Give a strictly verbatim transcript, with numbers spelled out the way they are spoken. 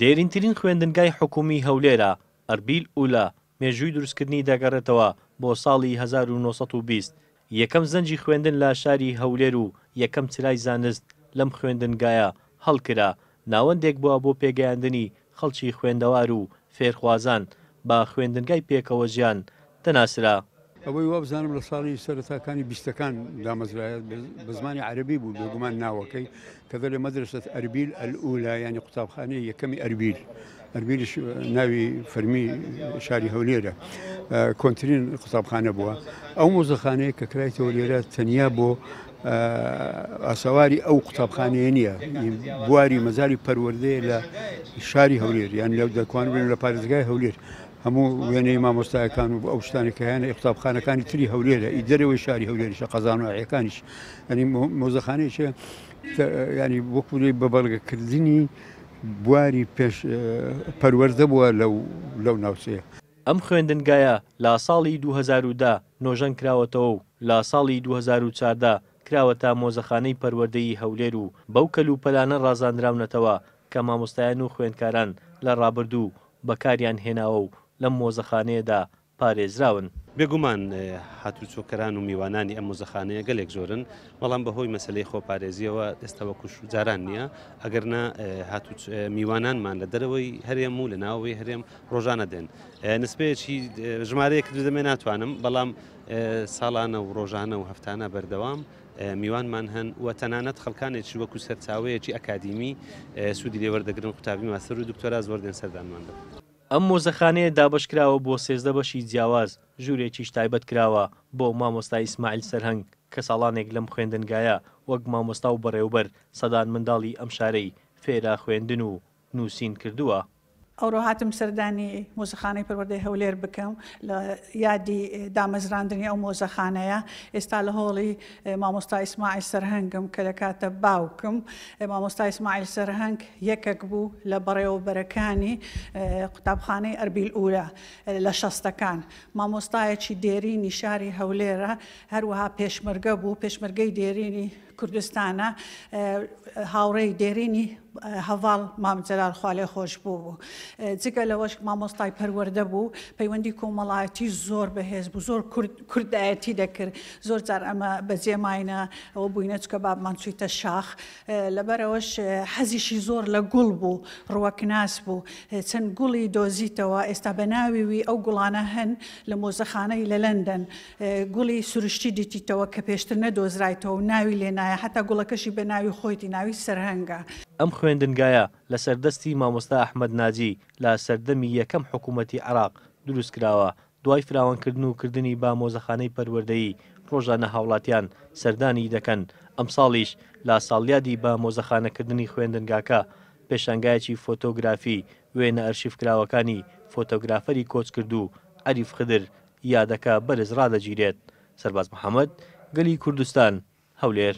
دێرینترین خوێندنگای حکومی هەولێرە، ئەربیل ئولا، مێژووی دروستکردنی دەگەڕێتەوە بۆ ساڵی هەزار و نۆ سەد و بیست. یەکەم زەنگی خوێندن لە شاری هەولێر و یەکەم چرای زانست لەم خوێندنگایە هەڵکرا، ناوەندێک بووە بۆ پێگەیاندنی خەڵکی خوێندەوار و فێرخوازان بە خوێندنگای پێکەوە ژیان دەناسرا. ئەوەی وابزانم لە ساڵی سەرەتاکانی بیستەکان دامەزرایە، بە زمانی عەرەبی بوو بێگومان ناوەکەی، کە دەڵێ مەدرسەت ئەربیل ئەلئولا، یعنی قوتابخانەی یەکەمی ئەربیل. ئەربیلیش ناوی فەرمی شاری هەولێرە، کۆنترین قوتابخانە بووە. ئەو مۆزەخانەیە کە کرایتەوە لێرە تەنیا بۆ ئاسەواری ئەو قوتابخانەیە نییە، بواری مەزاری پەروەردەیە لە شاری هەولێر، یان لە دەکوان بن لە پارێزگای هەولێر. هەموو وێنەی مامۆستایەکان و ئەو شتانێک کە هەیەنە قوتابخانەکانی تری هەولێرە، ئی دەرەوەی شاری هەولێریشە، قەزانۆعیەکانیش. ینی مۆزەخانەیەکە ینی وەکو بە بەڵگەکردنی بواری پێش پەروەردە بووە لەو ناوچەیە. ئەم خوێندنگایە لە ساڵی دوو هەزار و دە نۆژەن کراوەتەوە و لە ساڵی دوو هەزار و چواردە کراوەتە مۆزەخانەی پەروەردەی هەولێر و بەو کەلوپەلانە ڕازاندراونەتەوە کە مامۆستایان و خوێندکاران لە ڕابردوو بەکاریان هێناوە و لەم مۆزەخانەیەدا پارێزراون. بێگومان هاتوچۆکەران و میوانانی ئەم مۆزەخانەیە گەلێک زۆرن، بەڵام بەهۆی مەسلەی خۆپارێزیەوە ئێستا وەکو جاران نییە. ئەگەرنا میوانانمان لە دەرەوەی هەرێم و لە ناوەوەی هەرێم ڕۆژانە دێن. نسبەیەکی ژمارەیەک دەمێ ناتوانم، بەڵام ساڵانە و ڕۆژانە و هەفتانە بەردەوام میوانمان هەن و تەنانەت خەڵکانێکی وەکو سەرچاوەیەکی ئەکادیمی سوودی لێوەردەگرن، قوتابی ماستەر و دکتۆرا زۆر دێن سەردانمان دەکەن. ئەم مۆزەخانەیە دابەشکراوە بۆ سێزدە بەشی جیاواز، ژوورێکیش تایبەت کراوە بۆ مامۆستا ئیسماعیل سەرهەنگ کە ساڵانێک لەم خوێندنگایە وەک مامۆستا و بەڕێوبەر سەدان منداڵی ئەم شارەی فێرە خوێندن و نووسین کردووە. ئەوڕۆ هاتم سەردانی مۆزەخانەی پەروەردەی هەولێر بکەم لە یادی دامەزراندنی ئەو مۆزەخانەیە. ئێستا لە هۆڵی مامۆستا ئیسماعیل سەرهەنگم کە دەکاتە باوکم. مامۆستا ئیسماعیل سەرهەنگ یەکێک بوو لە بەڕێوەبەرەکانی قوتابخانەی ئەربیل ئولا لە شەستەکان. مامۆستایەکی دێرینی شاری هەولێرە، هەروەها پێشمەرگە بوو، پێشمەرگەی دێرینی کوردستانە، هاوڕێی دێرینی هەڤاڵ مام جەلال خوالێ خۆش بوو بوو. جگە لەوەش مامۆستای پەروەردە بوو، پەیوەندی کۆمەڵایەتی زۆر بەهێز بوو، زۆر کوردایەتی دەکرد. زۆر جار ئەمە بەجێماینە ئەوە بووینە چکە بابمان چوویتە شاخ، لەبەرەوەش حەزیشی زۆر لە گوڵ بوو، ڕوەکناس بوو، چەند گوڵی دۆزیتەوە. ئێستا بە ناویوی ئەو گوڵانە هەن لە مۆزەخانەی لە لەندەن، گوڵی سروشتی دیتیتەوە کە پێشتر نەدۆزرایتەوە و ناوی لێنایە، حتا گوڵەکەشی بە ناوی خۆیتی، ناوی سەرهەنگە. ئەم خوێندنگایە لەسەر دەستی مامۆستا ئەحمەد ناجی لە سەردەمی یەکەم حکوومەتی عێراق دروست کراوە. دوای فراوانکردن و کردنی با مۆزەخانەی پەروەردەیی ڕۆژانە هاوڵاتیان سەردانی دەکەن. ئەم ساڵیش لە ساڵیادی بە مۆزەخانەکردنی خوێندنگاکە پێشانگایەکی فۆتۆگرافی وێنە ئەرشیفکراوەکانی فۆتۆگرافەری کۆچکردوو عەریف خدر یادەکە بەرز ڕادەگیرێت. سەرباز محەممەد، گەلی کوردستان، هەولێر.